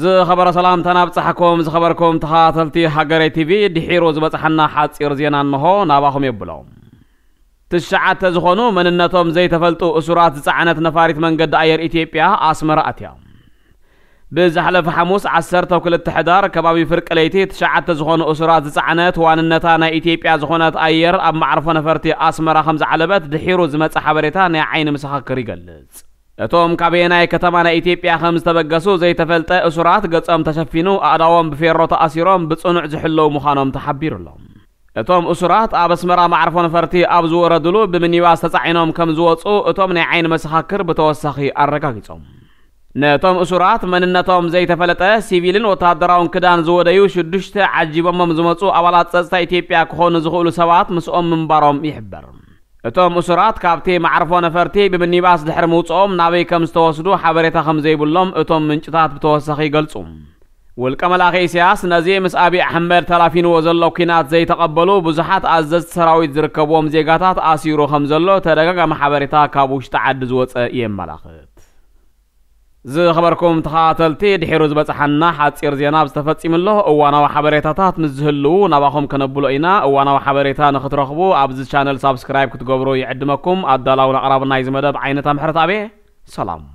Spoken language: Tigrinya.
ዝኸበረ ሰላምታና ኣብጻሕኩም። ዝኸበርኩም ተኸታተልቲ ሃገረይ ቲቪ፣ ድሒሩ ዝበጽሓና ሓጺር ዜና እንሆ ናባኹም የብሎም። ትሽዓተ ዝኾኑ መንነቶም ዘይተፈልጡ እሱራት ዝጸዓነት ነፋሪት መንገዲ ኣየር ኢትዮጵያ ኣስመራ ኣትያ። ብዝሓለፈ ሓሙስ ዓሰርተ ክልተ ሕዳር ከባቢ ፍርቂ ለይቲ ትሽዓተ ዝኾኑ እሱራት ዝጸዓነት ዋንነታ ናይ ኢትዮጵያ ዝኾነት ኣየር ኣብ መዓርፎ ነፈርቲ ኣስመራ ከም ዝዓለበት ድሒሩ ዝመጸ ሓበሬታ ናይ ዓይኒ መሰኻክር ይገልጽ። እቶም ካበየናይ ከተማ ናይ ኢትዮጵያ ከም ዝተበገሱ ዘይተፈልጠ እሱራት ገጾም ተሸፊኑ ኣእዳዎም ብፌሮ ተኣሲሮም ብጽኑዕ ዝሕለው ምዃኖም ተሓቢሩ ኣሎ። እቶም እሱራት ኣብ ኣስመራ መዓርፎ ነፈርቲ ኣብ ዝወረድሉ ብሚኒባስ ተጻዒኖም ከም ዝወጹ እቶም ናይ ዓይኒ መሰኻክር ብተወሳኺ ኣረጋጊጾም። ነቶም እሱራት መንነቶም ዘይተፈለጠ ሲቪልን ወተሃደራውን ክዳን ዝወደዩ ሽዱሽተ ዓጂቦሞም ዝመጹ ኣባላት ጸጥታ ኢትዮጵያ ክኾኑ ዝኽእሉ ሰባት ምስኦም ምንባሮም ይሕበር። እቶም እሱራት ካብቲ መዓርፎ ነፈርቲ ብምኒባስ ድሕሪ ምውጽኦም ናበይ ከም ዝተወስዱ ሓበሬታ ከም ዘይብሎም እቶም ምንጭታት ብተወሳኺ ይገልጹ። ውልቀ መላኺ ኢሳያስ ነዚ ምስ ኣብይ ኣሕመድ ተላፊንዎ ዘሎ ኲናት ዘይተቐበሉ ብዙሓት ኣዘዝቲ ሰራዊት ዝርከብዎም ዜጋታት ኣሲሩ ከም ዘሎ ተደጋጋሚ ሓበሬታ ካብ ውሽጢ ዓዲ ዝወጸ የመላኽት። ዝኸበርኩም ተኸታተልቲ፣ ድሒሩ ዝበጽሓና ሓጺር ዜና ዝተፈጺሙ ኣሎ። እዋናዊ ሓበሬታታት ምስ ዝህልዉ ናባኹም ከነብሎ ኢና። እዋናዊ ሓበሬታ ንክትረኽቡ ኣብዚ ቻነል ሳብስክራይብ ክትገብሩ ይዕድመኩም። ኣዳላውን ኣቕራብን ናይዚ መደብ ዓይነት ኣምሕረት ኣቤ። ሰላም።